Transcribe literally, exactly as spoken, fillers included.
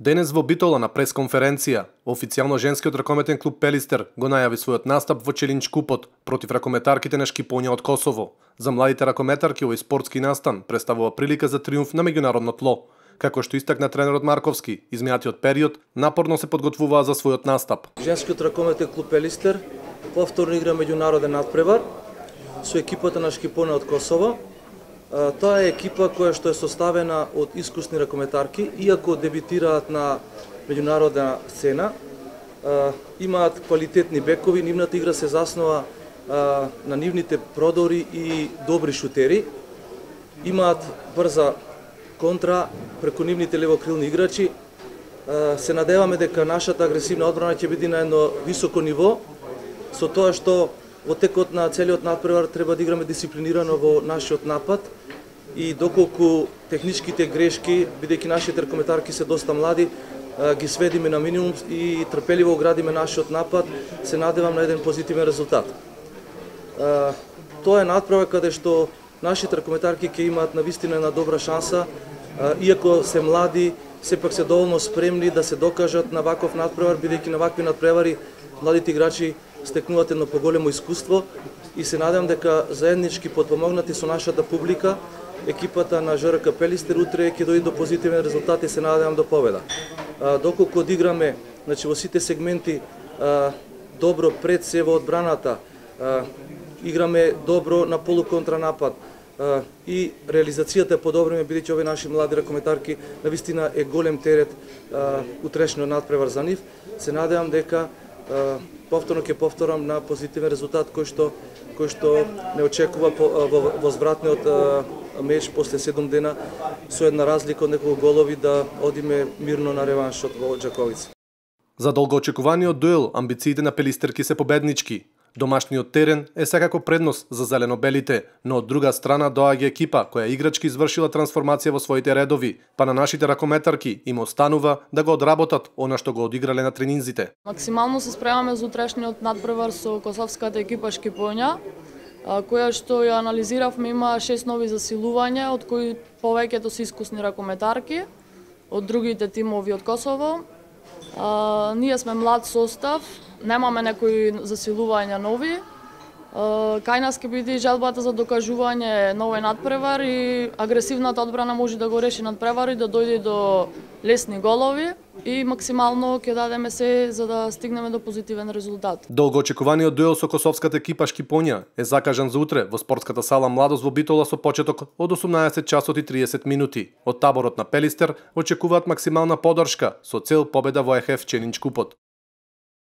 Денес во Битола на пресконференција, официјално женскиот ракометен клуб Пелистер го најави својот настап во Челинчкупот против ракометарките на Шкипоња од Косово. За младите ракометарки овој спортски настан представува прилика за триумф на меѓународно тло. Како што истакна тренерот Марковски, изминатиот период напорно се подготвуваа за својот настап. Женскиот ракометен клуб Пелистер повторно игра меѓународен надпревар со екипата на Шкипоња од Косово. Тоа е екипа која што е составена од искусни ракометарки, иако дебитираат на меѓународна сцена, имаат квалитетни бекови, нивната игра се заснова на нивните продори и добри шутери, имаат брза контра преку нивните левокрилни играчи. Се надеваме дека нашата агресивна одбрана ќе биде на едно високо ниво, со тоа што во текот на целиот надпревар треба да играме дисциплинирано во нашиот напад и доколку техничките грешки, бидејќи нашите ракометарки се доста млади, ги сведиме на минимум и трпеливо градиме нашиот напад, се надевам на еден позитивен резултат. Тоа е надпревар каде што нашите ракометарки ќе имаат навистина една добра шанса, иако се млади, сепак се доволно спремни да се докажат на ваков надпревар, бидејќи на вакви надпревари младите играчи стекнуваат едно поголемо искуство и се надевам дека заеднички потпомогнати со нашата публика, екипата на ЖРК Пелистер утре ќе дојде до позитивен резултат и се надевам до победа. Доколку одиграме, значи во сите сегменти добро пред се во одбраната, играме добро на полуконтранапад и реализацијата е подобриме, бидејќи овие наши млади ракометарки навистина е голем терет утрешниот надпревар за нив. Се надевам дека повторно ќе повторам на позитивен резултат кој што кој што не очекува во возвратниот меч после седум дена со една разлика од неколку голови да одиме мирно на реваншот во Џаковица. За долгоочекуваниот дуел амбициите на пелистерки се победнички. Домашниот терен е секако предност за зелено-белите, но од друга страна доаѓа екипа која играчки извршила трансформација во своите редови, па на нашите ракометарки им останува да го одработат она што го одиграле на тренинзите. Максимално се спремаме за утрешниот надпревар со косовската екипа Шкипоња, која што ја анализиравме, има шест нови засилувања, од кои повеќето се искусни ракометарки од другите тимови од Косово. А, ние сме млад состав, немаме некои засилувања нови. А, кај нас ќе биде желбата за докажување на овој надпревар и агресивната одбрана може да го реши надпревар и да дојде до лесни голови и максимално ќе дадеме се за да стигнеме до позитивен резултат. Долгоочекуваниот дуел со косовската екипа Шкипоња е закажан за утре во спортската сала Младост во Битола со почеток од осумнаесет часот и триесет минути. Од таборот на Пелистер очекуваат максимална поддршка со цел победа во ЕХФ Челинчкупот.